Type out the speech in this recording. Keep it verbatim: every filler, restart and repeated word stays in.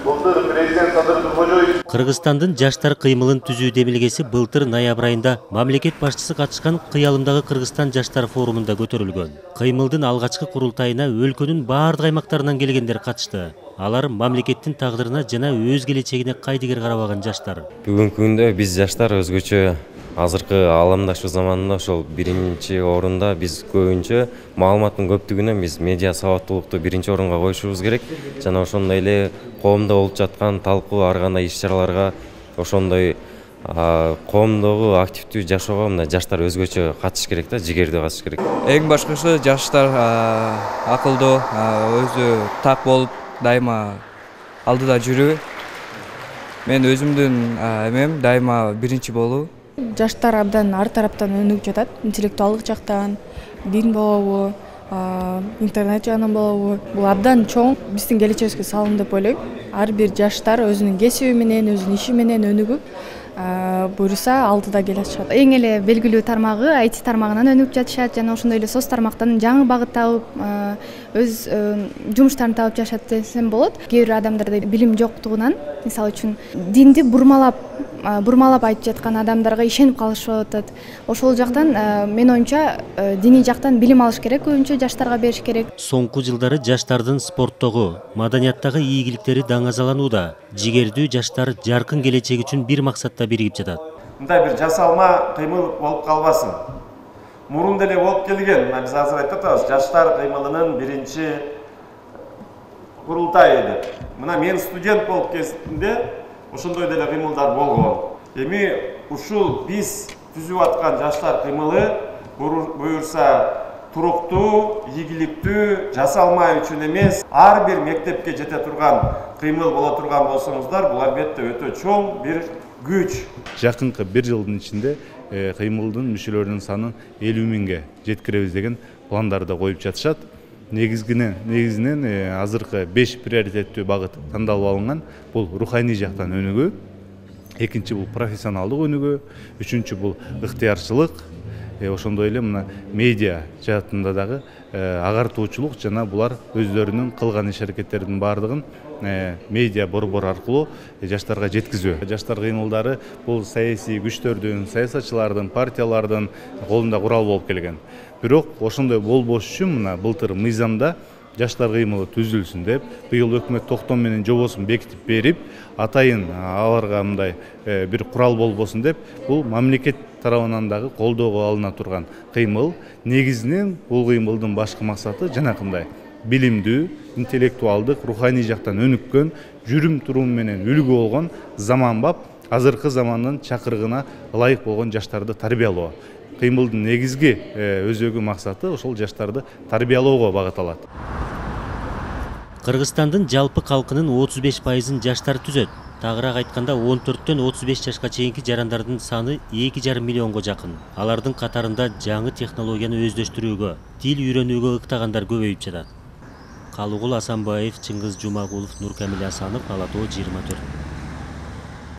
Былтыр президент Садыр Тургожоевич Кыргызстандын жаштар кыймылын түзүү демилгеси былтыр ноябрь айында мамлекет башчысы катышкан Кыялымдагы Кыргызстан жаштар форумунда көтөрүлгөн. Кыймылдын алгачкы курултайына өлкөнүн баардык аймактарынан келгендер катышты. Алар мамлекеттин тагдырына жана өз келечегине кайдыгер карабаган жаштар. Бүгүнкү күндө биз жаштар өзгөчө азыркы ааламдаштуу заманда ошол биринчи орунда биз көбүнчө маалыматтын көптүгүнөн биз медиа сабаттуулукту биринчи орунга коюшубуз керек жана ошондой эле коомдо болуп жаткан талкуу ар кандай иш чараларга ошондой коомдогу активдүү жашоого мына жаштар өзгөчө катышыш керек да, жигердүү катышыш керек. Эң башкысы жаштар акылдуу, өзү так болуп дайыма алдыда жүрүү. Мен өзүмдүн эмем дайыма биринчи болуу. Жаштар абдан ар тараптан өнүгүп жатат, интеллектуалдык жактан, дин болобу, интернет жагынан болобу. Бул абдан чоң биздин келечегибизге салым деп ойлойм. Ар бир жаштар өзүнүн кесиби менен, өзүнүн иши менен өнүгүп, буюрса алдыда келе атышат. Эң эле белгилүү тармагы ай ти тармагынан өнүгүп жатышат жана ошондой эле соц тармактан жаңы багыт табып, өз жумуштарын табып жашат десем болот. Кээ бир адамдарда билим жоктугунан, мисалы үчүн динди бурмалап бурмалап айтып жаткан адамдарга ишенип калышып атат. Ошол жактан мен оюмча диний жактан билим алыш керек, көбүнчө жаштарга бериш керек. Соңку жылдары жаштардын спорттогу, маданияттагы ийгиликтери даңазаланууда. Жигердүү жаштар жаркын келечек үчүн бир максатта биригип жатат. мындай бир жасалма кыймыл болуп калбасын. Мурун деле болуп келген, биз азыр айтып атабыз, жаштар кыймылынын биринчи курултайы деп. Мына мен студент болуп кезинде ошондой деле кыймылдар болгон. Эми ушул биз түзүп аткан жаштар кыймылы буюрса туруктуу, ийгиликтүү, жасалма үчүн эмес, ар бир мектепке жете турган кыймыл боло турган болсоңуздар, бул албетте өтө чоң бир күч. Жакынкы бир жылдын ичинде кыймылдын мүчөлөрүнүн санын элүү миңге жеткиребиз деген пландарды коюп жатышат. Негизинен негизинен азыркы беш приоритеттүү багыт тандалып алынган. Бул руханий жактан өнүгүү, экинчи бул профессионалдык өнүгүү, үчүнчү бул ыктыярчылык, ошондой эле мына медиа жаатында дагы агартуучулук жана булар өздөрүнүн кылган иш аракеттеринин баардыгын медиа борбор аркылуу жаштарга жеткизүү. Жаштар кыймылдары бул саясий күчтөрдүн, саясатчылардын, партиялардын колунда курал болуп келген. Бирок ошондой болбош үчүн мына былтыр мыйзамда жаштар кыймылы түзүлсүн деп, быйыл өкмөт токтом менен жобосун бекитип берип, атайын аларга мындай бир курал болбосун деп, бул мамлекет тарабынан дагы колдоого алына турган кыймыл. Негизинен бул кыймылдын башкы максаты жанакындай билимдүү, интеллектуалдык, руханий жактан өнүккөн, жүрүм турум менен үлгү болгон, заманбап, азыркы замандын чакырыгына ылайык болгон жаштарды тарбиялоо. Кыймылдын негизги өзөгү максаты ошол жаштарды тарбиялоого багытталат. Кыргызстандын жалпы калкынын отуз беш пайызын жаштар түзөт. Тагыраак айтканда он төрттөн отуз беш жашка чейинки жарандардын саны эки жарым миллионго жакын. Алардын катарында жаңы технологияны өздөштүрүүгө, тил үйрөнүүгө ыктагандар көбөйүп жатат. Калыгул Асанбаев, Чыңгыз Жумагулов, Нуркамил Асанов, Ала Тоо жыйырма төрт.